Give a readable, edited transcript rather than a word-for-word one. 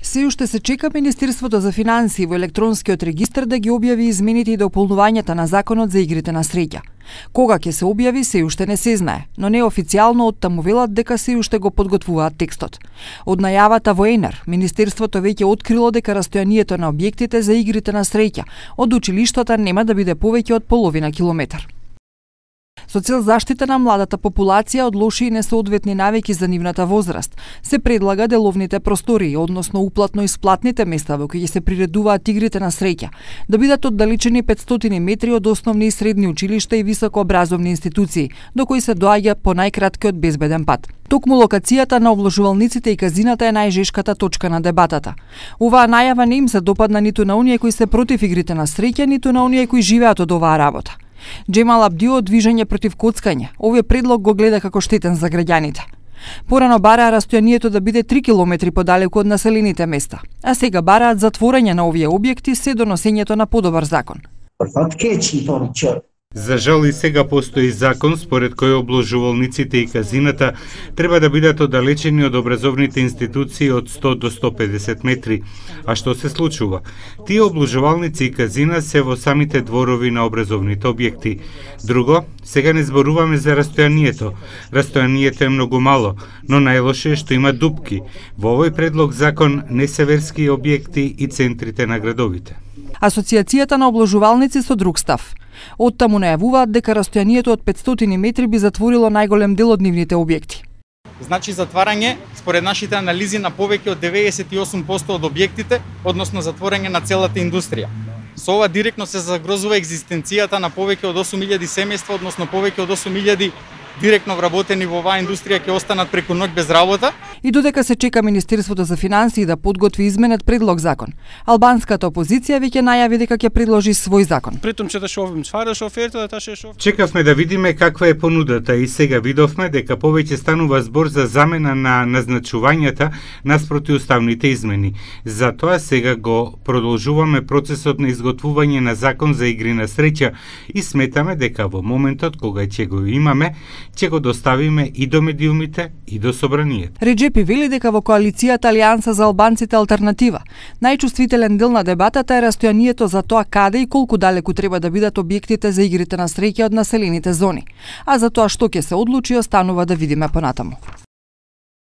Се уште се чека Министерството за финансии во електронскиот регистар да ги објави измените и дополнувањата на Законот за игрите на среќа. Кога ќе се објави се уште не се знае, но неофицијално оттаму велат дека се уште го подготвуваат текстот. Од најавата во ЕНАР, Министерството веќе открило дека растојанието на објектите за игрите на среќа од училиштата нема да биде повеќе од половина километар. Со цел заштита на младата популација од лоши и несоодветни навики за нивната возраст, се предлага деловните простории, односно уплатно-исплатните места во кои се приредуваат игрите на среќа, да бидат оддалечени 500 метри од основни и средни училишта и високообразовни институции, до кои се доаѓа по најкраткиот безбеден пат. Токму локацијата на обложувалниците и казината е најжешката точка на дебатата. Оваа најава не им се допадна ниту на оние кои се против игрите на среќа, ниту на оние кои живеат од оваа работа. Джемал Абдио од Движење против коцкање овој предлог го гледа како штетен за граѓаните. Порано бараа растојанието да биде 3 километри подалеку од населените места, а сега бараат затворање на овие објекти се до носењето на подобар закон. За жал и сега постои закон според кој обложувалниците и казината треба да бидат оддалечени од образовните институции од 100 до 150 метри. А што се случува? Тие обложувалници и казина се во самите дворови на образовните објекти. Друго, сега не зборуваме за растојанието. Растојанието е многу мало, но најлоше е што има дупки. Во овој предлог закон не се верски објекти и центрите на градовите. Асоциацијата на обложувалници со друг став. Оттаму најавуваат дека растојанието од 500 метри би затворило најголем дел од нивните објекти. Значи затварање, според нашите анализи, на повеќе од 98% од објектите, односно затворање на целата индустрија. Со ова директно се загрозува екзистенцијата на повеќе од 8000 семејства, односно повеќе од 8000 директно вработени во оваа индустрија ќе останат преку ноќ без работа. И додека се чека Министерството за финансии да подготви изменет предлог закон, албанската опозиција веќе најави дека ќе предложи свој закон. Чекавме да видиме каква е понудата и сега видовме дека повеќе станува збор за замена на назначувањата наспроти уставните измени. Затоа сега го продолжуваме процесот на изготвување на закон за игри на среќа и сметаме дека во моментот кога ќе го имаме, ќе го доставиме и до медиумите и до собранието. Реджепи вели дека во коалицијата Алијанса за албанците алтернатива најчувствителен дел на дебатата е растојанието за тоа каде и колку далеку треба да бидат објектите за игрите на среќа од населените зони. А за тоа што ќе се одлучи останува да видиме понатаму.